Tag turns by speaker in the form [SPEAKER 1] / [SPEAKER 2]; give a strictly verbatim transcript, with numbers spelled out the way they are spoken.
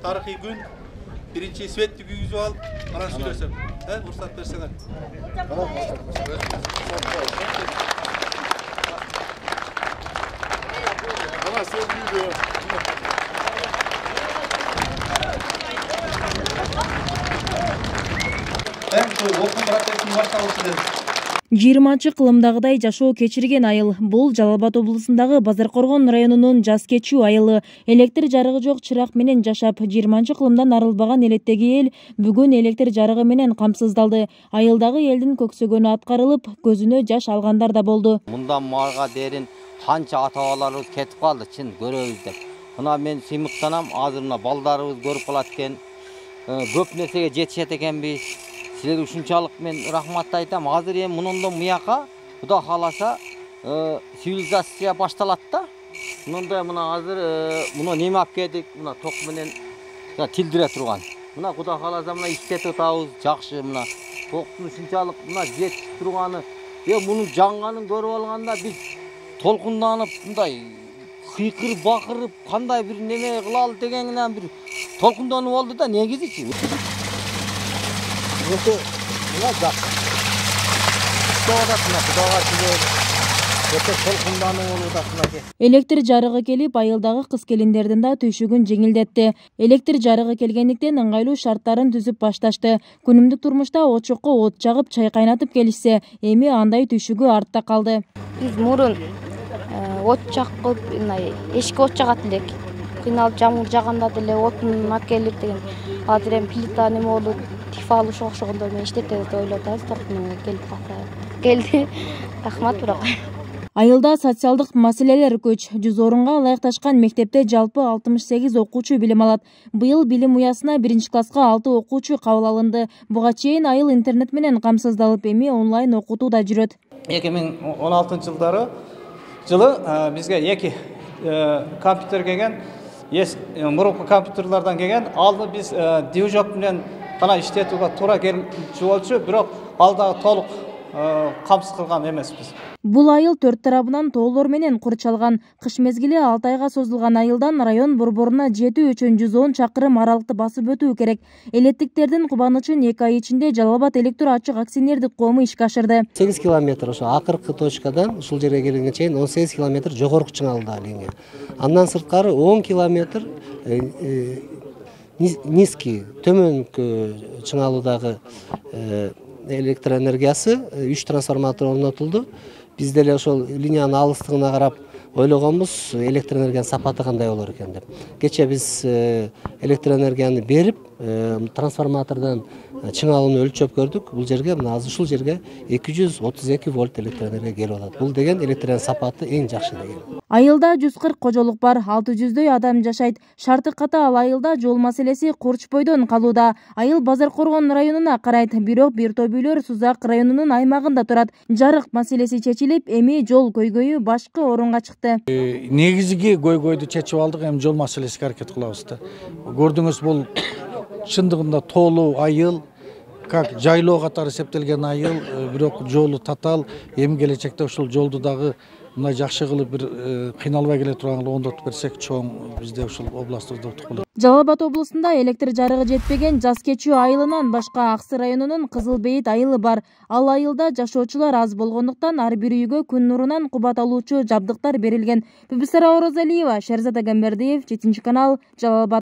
[SPEAKER 1] тарыхый күн. Биринчи светти күйгүзүп алып, анан сүйлөсөм. Э, уруксат берсеңер. Ана сен күйдү. Эң сол окуу процессин башталышы.
[SPEAKER 2] жыйырманчы кылымдагыдай жашоо кечирген айыл. Бул Жалал Абад облусундагы Базаркоргон районунун жаз кечүү айылы. Электр жарыгы жок чырак менен жашап, жыйырманчы кылымдан арылбаган элеттеги эл бүгүн электр жарыгы менен камсыздалды. Айылдагы элдин көксөгөнү аткарылып, көзүнө жаш алгандар да болду.
[SPEAKER 3] Мындан марга дерин канча ата-бабаларыбыз кетип калды, чын көрөбүз деп. Мына мен сыймыктанам, азыр мына балдарыбыз көрүп калат экен. Көп нерсеге жетишет экенбиз. Силерге ушунчалык мен рахмат айтам. Азыр эми мындан муяка Кудай кааласа цивилизация башталат да. Мындай мына азыр мына неме алып келдик, мына ток менен тилдире турган. Мына Кудай кааласа мына иштетип атабыз, жакшы мына. Токтун ушунчалык мына жетип турганы, э мунун жанганын көрүп алганда биз толкунданып мындай кыйкырып бакырып кандай бир неме кылалы дегенден бир толкунданып болду да негизичи.
[SPEAKER 2] Электр жарыгы келип, айылдагы кыз-келиндердин да түйшүгүн жеңилдетти. Электр жарыгы келгендиктен ыңгайлуу шарттарын түзүп башташты. Күнүмдүк турмушта очокко от жагып, чай кайнатып келишсе, эми андай түйшүгү артта калды.
[SPEAKER 4] Биз мурун от жакып, эшикке от жагат элек. Кыйналып жамгыр жаганда деле отун алып келип деген. Азыр эми плита неме болуп, тифал ошо окшогондор менен иштетебиз деп ойлоп атабыз. Токтун келип калса. Келди. Рахмат бирок.
[SPEAKER 2] Айылда социалдык маселелер көч. жүз орунга ылайыкташкан мектепте жалпы алтымыш сегиз окуучу билим алат. Быйыл билим уясына биринчи класска алты окуучу кабыл алынды. Буга чейин айыл интернет менен камсыздалып, эми онлайн окутуу да жүрөт.
[SPEAKER 5] эки миң он алтынчы жылдары жылы бизге эки компьютер келген. Мурунку компьютерлерден келген. Алды биз движок менен гана иштетүүгө туура келчү болчу, бирок алда толук камсыз кылган эмеспиз.
[SPEAKER 2] Бул айыл төрт тарабынан тоолор менен курчалган. Кыш мезгили алты айга созулган айылдан район борборуна жетүү үчүн жүз он чакырым аралыкты басып өтүү керек. Элеттиктердин кубанычын эки ай ичинде Жалал Абад электр ачык акционердик коому ишке ашырды.
[SPEAKER 6] сегиз километр ошо акыркы точкадан ушул жерге келгенге чейин он сегиз километр жогорку чыңалдагы линия. Андан сырткары он километр низкий, төмөнкү чыңалуудагы электр энергиясы үч трансформатор орнотулду. Биз деле ошол линияны алыстыгына карап ойлогонбуз, электр энергиянын сапаты кандай болор экен деп. Кече биз электр энергияны берип, трансформатордон чыңалууну өлчөп көрдүк. Бул жерге мына азыр ушул жерге эки жүз отуз эки вольт электр энергия келип атат. Бул деген электр сапаты эң жакшы деген.
[SPEAKER 2] Айылда жүз кырк кожолук бар, алты жүздөй адам жашайт. Шарты катаал айылда жол маселеси курчпойдон калууда. Айыл Базаркоргон районуна карайт, бирок бир топ үйлөр Сузак районунун аймагында турат. Жарык маселеси чечилип, эми жол көйгөйү башкы орунга чыкты.
[SPEAKER 7] Негизги көйгөйдү чечип алдык, эми жол маселесине аракет кылабыз да. Көрдүңүз, бул чындыгында тоолуу айыл, как жайлоо катары эсептелген айыл, бирок жолу татаал. Эми келечекте ушул жолду дагы мындай жакшы кылып бир кыйналбай келе турган оңдотуп берсек, чоң бизде ушул областыбызда утук болот.
[SPEAKER 2] Жалал Абад облусунда электр жарыгы жетпеген жаз кечүү айылынан башка Аксы районунун Кызыл Бейит айылы бар. Ал айылда жашоочулар аз болгондуктан ар бир үйгө күн нурунан кубат алуучу жабдыктар берилген. Бибисара Орозалиева, Шерзат Агамбердиев, жетинчи канал, Жалал Абад.